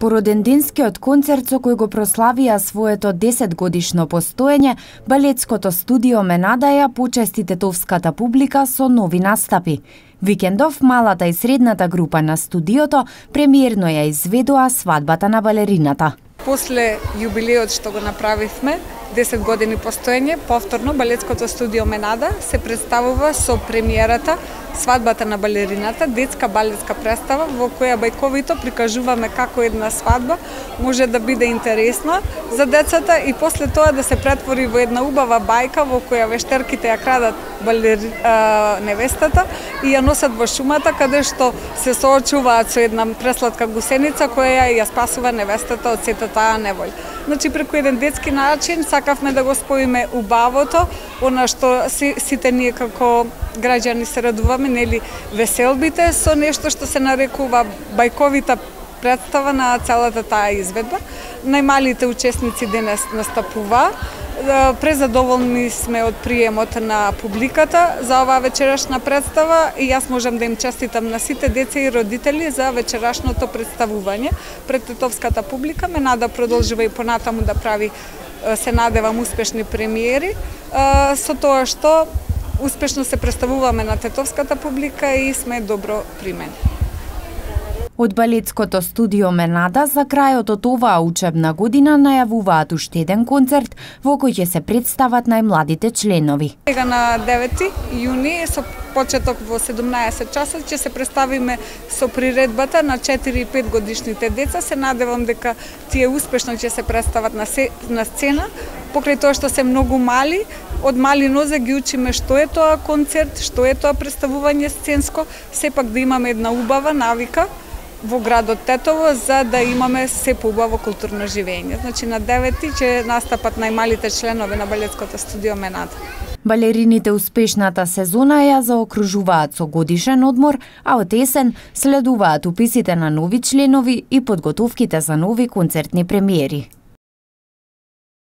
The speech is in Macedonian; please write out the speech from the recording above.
Породенденскиот концерт со кој го прославија своето 10-годишно постоење, балетското студио Менада ја почести тетовската публика со нови настапи. Викендов малата и средната група на студиото премиерно ја изведоа свадбата на балерината. После јубилеот што го направивме, 10 години постоење, повторно балетското студио Менада се представува со премиерата Свадбата на балерината, детска балетска представа во која бајковито прикажуваме како една свадба може да биде интересна за децата и после тоа да се претвори во една убава бајка во која вештерките ја крадат невестата и ја носат во шумата каде што се соочуваат со една пресладка гусеница која ја спасува невестата од сета таа неволја. Значи преку еден детски начин сакавме да го споиме убавото, она што сите ние како граѓани се радуваме, нели, веселбите со нешто што се нарекува бајковита представа на целата таа изведба. Најмалите учесници денес настапуваа. Презадоволни сме од приемот на публиката за оваа вечерашна представа и јас можам да им честитам на сите деца и родители за вечерашното представување пред тетовската публика. Менада продолжува и понатаму да прави, се надевам, успешни премиери, со тоа што успешно се представуваме на тетовската публика и сме добро примени. Од балетското студио Менада за крајот од оваа учебна година најавуваат уште еден концерт во кој ќе се представат најмладите членови. Сега на 9 јуни со почеток во 17 часот ќе се представиме со приредбата на 4 и 5 годишните деца. Се надевам дека тие успешно ќе се представат на сцена, покрај тоа што се многу мали. Од мали нозе ги учиме што е тоа концерт, што е тоа представување сценско, сепак да имаме една убава навика во градот Тетово за да имаме се поубаво културно живење. Значи на 9 ќе настапат најмалите членови на балетското студио Менада. Балерините успешната сезона ја заокружуваат со годишен одмор, а од есен следуваат уписите на нови членови и подготовките за нови концертни премиери.